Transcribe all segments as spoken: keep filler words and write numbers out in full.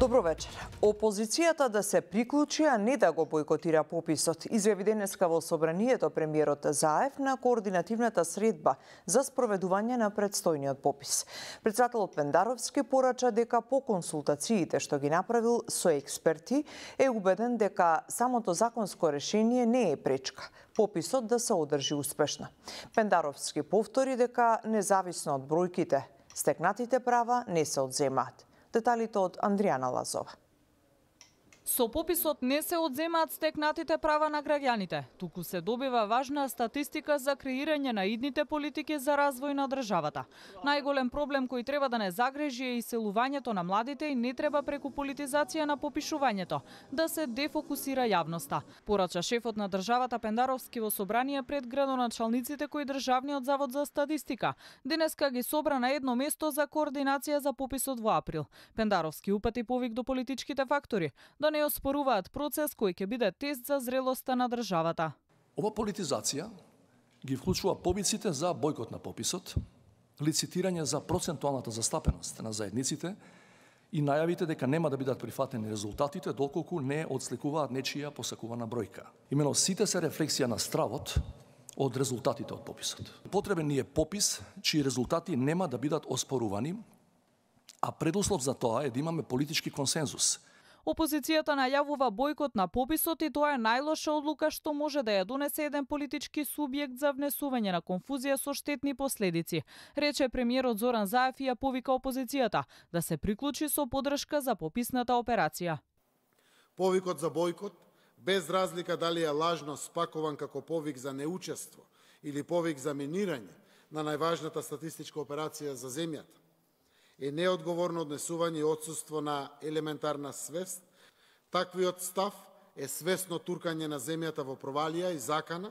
Добро вечер. Опозицијата да се приклучи, а не да го бойкотира пописот, изјави денеска во собранието премиерот Заев на координативната средба за спроведување на предстојниот попис. Председателот Пендаровски порача дека по консултациите што ги направил со експерти е убеден дека самото законско решение не е пречка пописот да се одржи успешно. Пендаровски повтори дека независно од бројките, стекнатите права не се одземаат. Деталите од Андријана Лазова. Со пописот не се одземаат стекнатите права на граѓаните, туку се добива важна статистика за креирање на идните политики за развој на државата. Најголем проблем кој треба да не загрежи е иселувањето на младите и не треба преку политизација на попишувањето да се дефокусира јавноста. Порача шефот на државата Пендаровски во собрание пред градоначалниците кои Државниот завод за статистика денеска ги собра на едно место за координација за пописот во април. Пендаровски упати повик до политичките фактори да не оспоруваат процес кој ќе биде тест за зрелоста на државата. Ова политизација ги вклучува побиците за бојкот на пописот, лицитирање за процентуалната застапеност на заедниците и најавите дека нема да бидат прифатени резултатите доколку не одсликуваат нечија посакувана бројка. Имено сите се рефлексија на стравот од резултатите од пописот. Потребен ни е попис чии резултати нема да бидат оспорувани, а предуслов за тоа е да имаме политички консензус. Опозицијата најавува бојкот на пописот и тоа е најлоша одлука што може да ја донесе еден политички субјект за внесување на конфузија со штетни последици, рече премиерот Зоран Заев и ја повика опозицијата да се приклучи со поддршка за пописната операција. Повикот за бојкот, без разлика дали е лажно спакуван како повик за неучество или повик за минирање на најважната статистичка операција за земјата, е неодговорно однесување и отсуство на елементарна свест. Таквиот став е свесно туркање на земјата во провалија и закана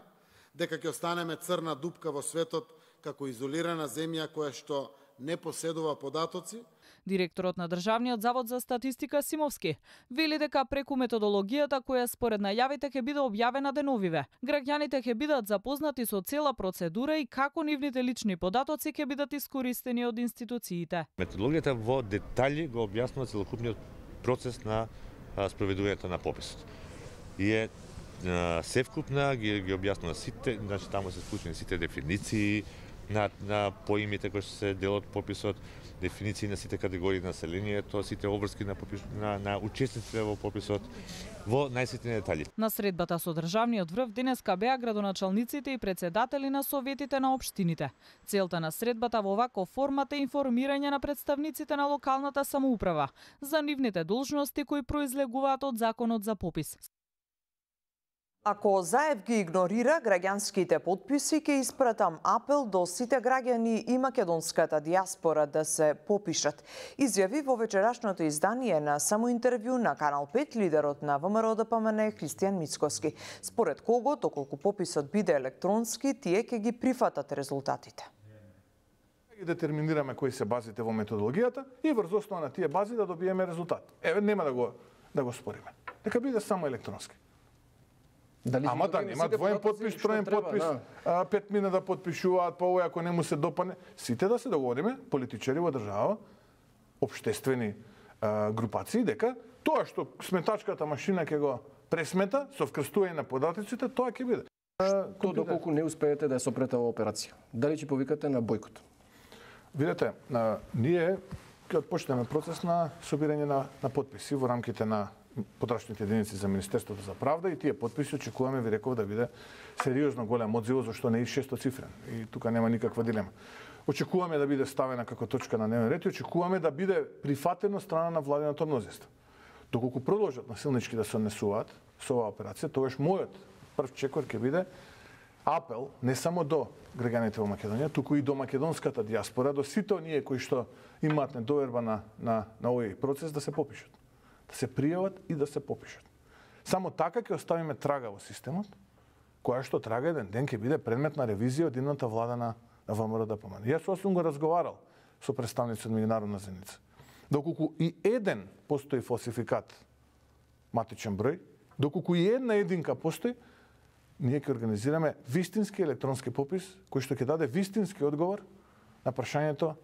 дека ќе останеме црна дупка во светот како изолирана земја која што не поседува податоци. Директорот на Државниот завод за статистика Симовски вели дека преку методологијата која според најавите ќе биде објавена деновиве, граѓаните ќе бидат запознати со цела процедура и како нивните лични податоци ќе бидат искористени од институциите. Методологијата во детали го објаснува целокупниот процес на спроведувањето на пописот. И е севкупна, ги, ги објаснува сите, значи таму се вклучени сите дефиниции на, на поимите кои се дел од пописот, дефиниции на сите категории на населението, сите обврски на, попис, на, на учесниците во пописот, во најситни детали. На средбата со државниот врв денеска беа градоначалниците и председатели на советите на општините. Целта на средбата во ваков формат е информирање на представниците на локалната самоуправа за нивните должности кои произлегуваат од законот за попис. Ако Заев ги игнорира граѓанските подписи, ќе испратам апел до сите граѓани и македонската дијаспора да се попишат, изјави во вечерашното издание на самоинтервју на Канал пет лидерот на ВМРО Д П М Н Христијан Мицкоски, според кого, доколку пописот биде електронски, тие ќе ги прифатат резултатите. Ги детерминираме кои се базите во методологијата и врз основа на тие бази да добиеме резултат. Еве, нема да го да го спориме. Нека биде само електронски. Дали Ама да нема двоен подпис, троен подпис, да. Пет мина да подпишуваат, па овој ако не му се допане. Сите да се договориме, политичари во држава, општествени а, групации, дека тоа што сметачката машина ќе го пресмета со вкрстување на податоците, тоа ќе биде. Што доколку не успеете да ја сопрете оваа операција? Дали ќе повикате на бојкот? Видете, а, ние ќе отпочнеме процес на собирање на, на подписи во рамките на потрашните единици за Министерството за правда и тие подписи очекуваме, ви реков, да биде сериозно голем одзив, зашто не е шестоцифрен. И тука нема никаква дилема. Очекуваме да биде ставена како точка на дневен ред и очекуваме да биде прифатено страна на владиното мнозинство. Доколку продолжат насилнички да се однесуваат со оваа операција, тогаш мојот прв чекор ќе биде апел не само до граѓаните во Македонија, туку и до македонската дијаспора, до сите оние кои што имаат недоверба на, на, на овој процес да се попишат. Да се пријават и да се попишат. Само така ќе оставиме трага во системот, која што трага еден ден ќе биде предмет на ревизија од идната влада на, на ВМРО Д П М Н. Јас сум го разговарал со представници од меѓународна заедница. Доколку и еден постои фалсификат матичен број, доколку и една единка постои, ние ќе организираме вистински електронски попис кој што ќе даде вистински одговор на прашањето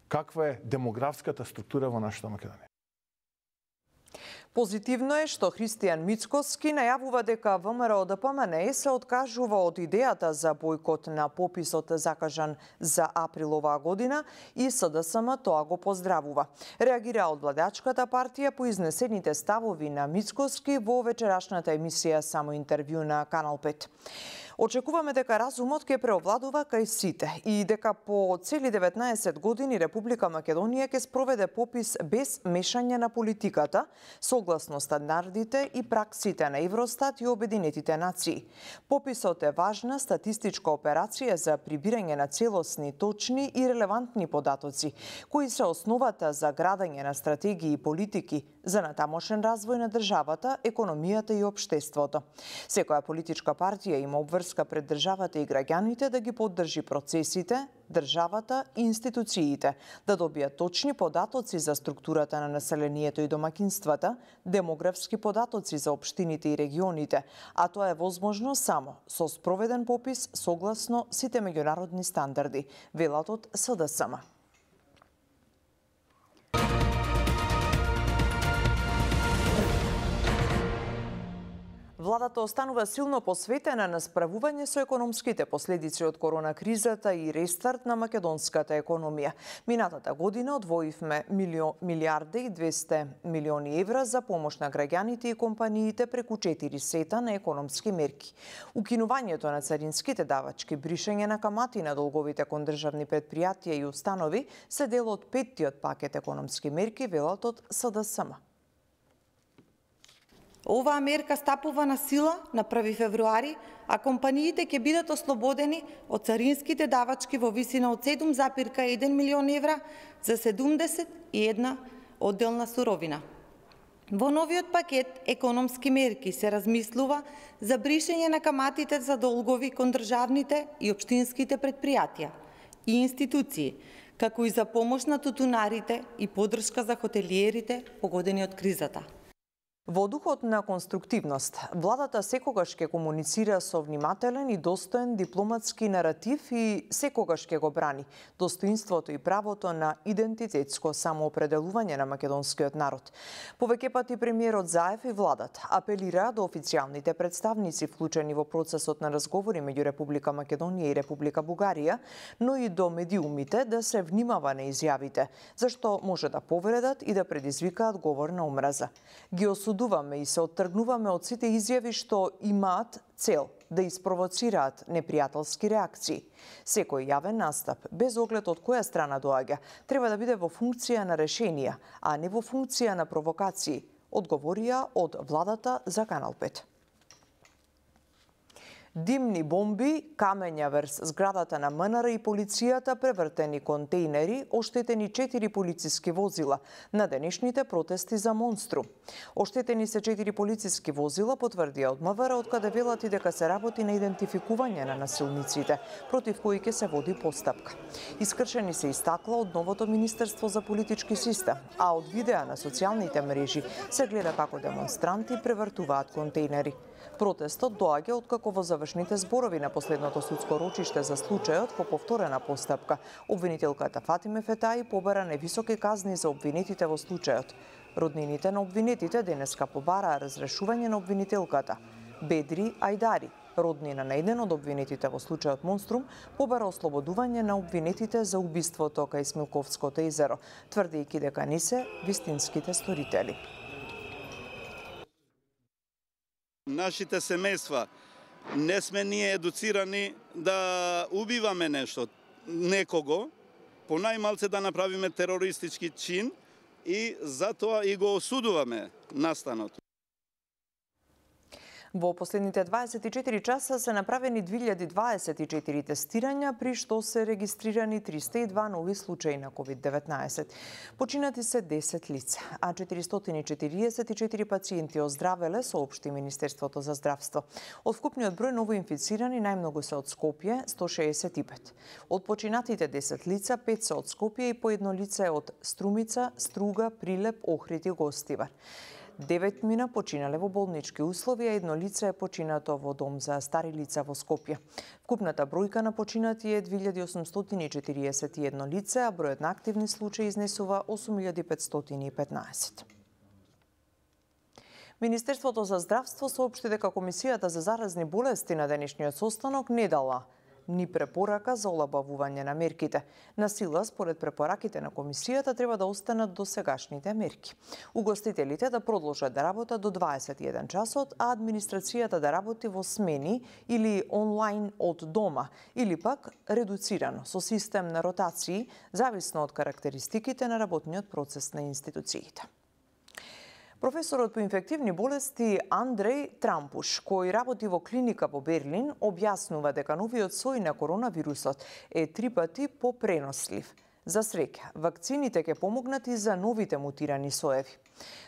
каква е демографската структура во нашата Македонија. Позитивно е што Христијан Мицкоски најавува дека ВМРО-ДПМНЕ се откажува од идејата за бојкот на пописот закажан за април оваа година и СДСМ тоа го поздравува. Реагира од владачката партија по изнесените ставови на Мицкоски во вечерашната емисија Само интервју на Канал пет. Очекуваме дека разумот ќе преовладува кај сите и дека по цели деветнаесет години Република Македонија ќе спроведе попис без мешање на политиката, согласно стандардите и праксите на Евростат и Обединетите нации. Пописот е важна статистичка операција за прибирање на целосни, точни и релевантни податоци, кои се основата за градење на стратегии и политики за натамошен развој на државата, економијата и општеството. Секоја политичка партија има обврска пред државата и граѓаните да ги поддржи процесите, државата и институциите, да добијат точни податоци за структурата на населението и домакинствата, демографски податоци за општините и регионите, а тоа е возможно само со спроведен попис согласно сите меѓународни стандарди, велат од СДСМ. Владата останува силно посветена на справување со економските последици од корона кризата и рестарт на македонската економија. Минатата година одвоивме милијарда и двесте милиони евра за помош на граѓаните и компаниите преку четири сета на економски мерки. Укинувањето на царинските давачки, бришење на камати на долговите кон државни предпријатија и установи се дел од петтиот пакет економски мерки, велат од СДСМ. Оваа мерка стапува на сила на први февруари, а компаниите ќе бидат ослободени од царинските давачки во висина од седум зарез еден милион евра за седумдесет и една одделна суровина. Во новиот пакет економски мерки се размислува за бришење на каматите за долгови кон државните и општинските предпријатија и институции, како и за помош на тутунарите и поддршка за хотелиерите погодени од кризата. Во духот на конструктивност, владата секогаш ќе комуницира со внимателен и достоен дипломатски наратив и секогаш ќе го брани достоинството и правото на идентитетско самоопределување на македонскиот народ. Повеќе пати премиерот Заев и владата апелира до официјалните представници вклучени во процесот на разговори меѓу Република Македонија и Република Бугарија, но и до медиумите да се внимава на изјавите, зашто може да повредат и да предизвикаат говор на омраза. Ги осудуваме и се оттргнуваме од сите изјави што имаат цел да испровоцираат непријателски реакции. Секој јавен настап, без оглед од која страна доаѓа, треба да биде во функција на решенија, а не во функција на провокации, одговорија од владата за Канал пет. Димни бомби, камења врз зградата на МНР и полицијата, превртени контејнери, оштетени четири полициски возила на денешните протести за Монструм. Оштетени се четири полициски возила, потврдија од МВР, откаде велат и дека се работи на идентификување на насилниците, против кои ќе се води постапка. Искршени се истакла од новото Министерство за политички систем, а од видеа на социјалните мрежи се гледа како демонстранти превртуваат контејнери. Протестот доаѓа откако во завршните зборови на последното судско рочиште за случајот по повторена постапка, обвинителката Фатиме Фетаи побара невисоки казни за обвинетите во случајот. Роднините на обвинетите денеска побараа разрешување на обвинителката. Бедри Ајдари, роднина на еден од обвинетите во случајот Монструм, побара ослободување на обвинетите за убиството кај Смилковското езеро, тврдејќи дека не се вистинските сторители. Нашите семејства не сме ние едуцирани да убиваме нешто, некого, по најмалце да направиме терористички чин и затоа и го осудуваме настаното. Во последните дваесет и четири часа се направени две илјади дваесет и четири тестирања, при што се регистрирани триста и два нови случаи на ковид деветнаесет. Починати се десет лица, а четиристотини и четириесет и четири пациенти оздравеле, соопшти Министерството за здравство. Од вкупниот број новоинфицирани најмногу се од Скопје, сто шеесет и пет. Од починатите десет лица, пет се од Скопје и по едно лице е од Струмица, Струга, Прилеп, Охрид и Гостивар. Девет мина починале во болнички услови, а едно лице е починато во дом за стари лица во Скопје. Вкупната бројка на починати е две илјади осумстотини и четириесет и едно лице, а бројот на активни случаи изнесува осум илјади петстотини и петнаесет. Министерството за здравство соопшти дека Комисијата за заразни болести на денешниот состанок не дала ни препорака за олабавување на мерките. На сила, според препораките на Комисијата, треба да останат до сегашните мерки. Угостителите да продолжат да работат до дваесет и еден часот, а администрацијата да работи во смени или онлайн од дома, или пак редуцирано со систем на ротации, зависно од карактеристиките на работниот процес на институциите. Професорот по инфективни болести Андреј Трампуш, кој работи во клиника во Берлин, објаснува дека новиот сој на коронавирусот е три пати попренослив. За среќа, вакцините ќе помогнат и за новите мутирани соеви.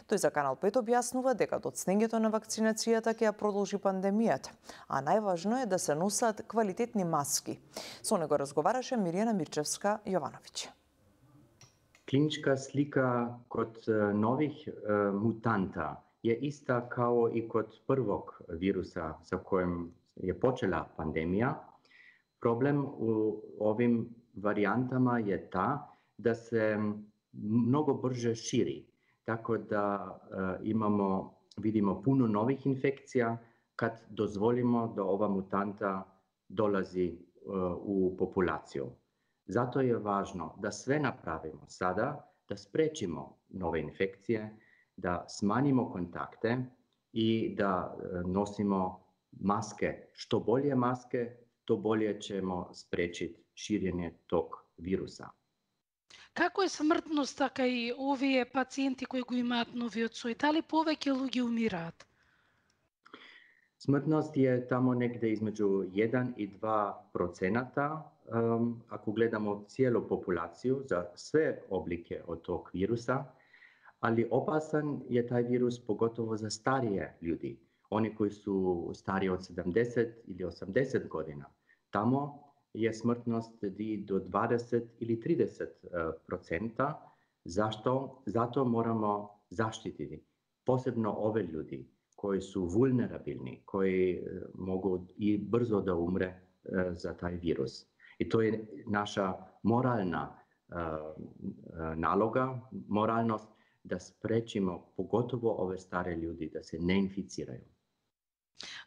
Тој за Канал пет објаснува дека доцнењето на вакцинацијата ќе ја продолжи пандемијата, а најважно е да се носат квалитетни маски. Со него разговараше Мирјана Мирчевска-Јовановиќ. Клиничка слика код нових е, мутанта е иста као и код првог вируса за којем е почела пандемија. Проблем у овим варијантама е та да се многу брже шири, така да е, имамо, видимо, пуно нових инфекција, кад дозволимо да ова мутанта долази е, у популација. Зато е важно да све направимо сада, да спречимо нове инфекcije, да сманимо контакте и да носимо маске. Што болje маске, то болje ćemo спречити ширење тог вируса. Како е смртноста кај овие пациенти кои го имаат новиот сој? Дали повеќе луѓе умираат? Смртност е тамо негде измеѓу еден и два процента. Ако гледамо цијелу популацiju за све облике од тог вируса, али опасан е тај вирус поготово за старие људи, они кои су стари од седамдесет или осамдесет година. Тамо е смртност до дваесет или тридесет процента. Зашто? Зато морамо заштитити посебно ове људи кои су вулнерабилни, кои могу и брзо да умре за тај вирус. И тоа е наша морална е, налога, моралност да спречимо поготово ове стари људи да се не инфицирају.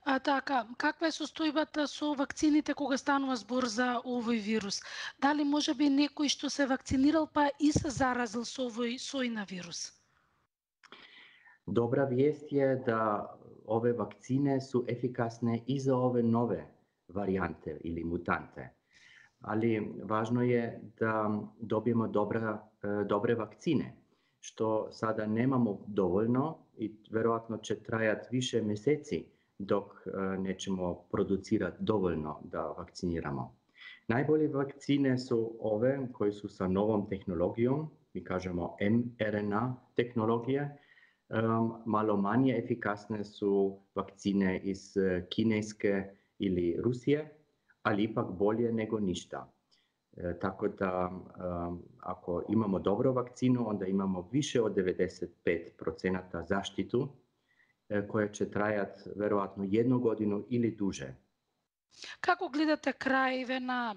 А така, каква е состојбата со вакцините кога станува збор за овој вирус? Дали можеби некој што се вакцинирал па и се заразил со овој сој на вирус? Добра вест е да ове вакцине су ефикасне и за ове нове варијанте или мутанте. Али важно е да добиемо добра, добре вакцине, што сада немамо доволно и веројатно ќе трајат више месеци док не ćemo продуцират доволно да вакцинирамо. Најболи вакцине су ове кои су са новом технологијом, ми кажемо ем ер ен а технологија. Мало мање ефикасне су вакцине из Кинеске или Русија, али ипак болje него ништа. E, tako da um, ako imamo dobro vakcinu, onda imamo više od devedeset pet procenta zaštitu e, koja će trajati verovatno jednu godinu ili duže. Како гледате крајве на,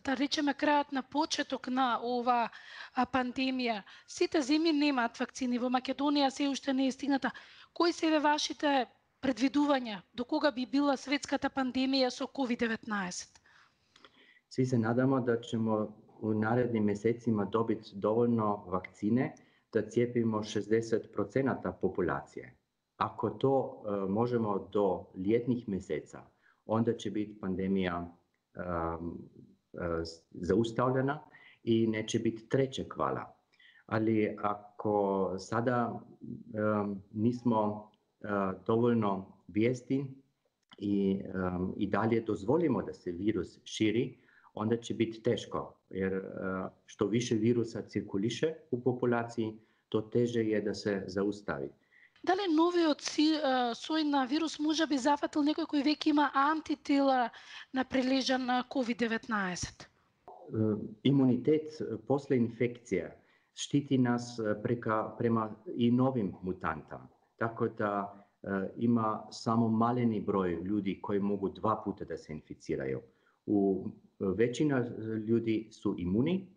да речеме, крајот на почеток на ова пандемија? Сите земји немаат вакцини, во Македонија се уште не е стигната. Кои се вашите предвидувања до кога би била светската пандемија со ковид деветнаесет? Svi se nadamo da ćemo u narednim mesecima dobiti dovoljno vakcine da cijepimo šezdeset procenta populacije. Ako to uh, možemo do ljetnih meseca, onda će biti pandemija um, uh, zaustavljena i neće biti trećeg vala. Ali ako sada um, nismo uh, dovoljno vijesti i, um, i dalje dozvolimo da se virus širi, onda će biti teško, jer uh, što više virusa cirkuliše u populaciji, to teže je da se zaustavi. Дали новиот сој на вирус може би зафатил некој кој веќе има антитела на прилежан на ковид деветнаесет? Imunitet posle infekcije štiti nas preka, prema i novim mutantama. Tako da uh, ima samo maleni broj ljudi koji mogu dva puta da se inficiraju. U većina ljudi su imuni,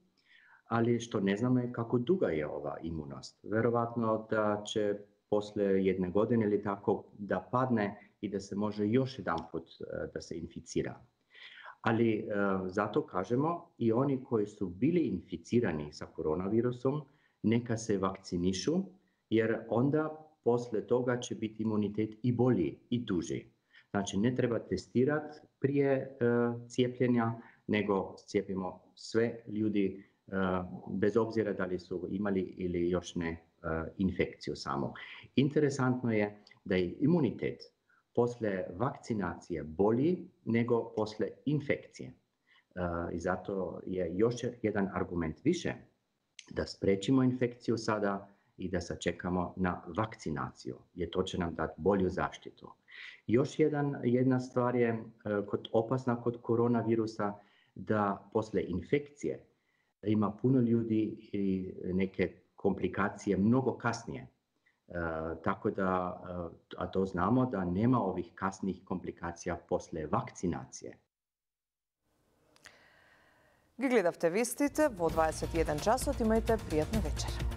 ali što ne znamo je kako duga je ova imunost. Verovatno da će после jedne godine ili tako da padne i da se može još jedan put da se inficira. Ali zato kažemo i oni koji su bili inficirani sa koronavirusom, neka se vakcinišu, jer onda posle toga će biti imunitet i bolji i duži. Znači, ne treba testirati prije cijepljenja, nego cijepimo sve ljudi bez obzira da li su imali ili još ne infekciju samo. Interesantno je da je imunitet posle vakcinacije bolji nego posle infekcije. I zato je još jedan argument više da sprečimo infekciju sada i da sačekamo na vakcinaciju, jer to će nam dati bolju zaštitu. Još jedan, jedna stvar je kod, opasna kod koronavirusa, da posle infekcije ima puno ljudi i neke komplikacije mnogo kasnije. E, tako da, a to znamo da nema ovih kasnih komplikacija posle vakcinacije. Ги гледавте вестите во дваесет и еден часот, имајте пријатна вечер.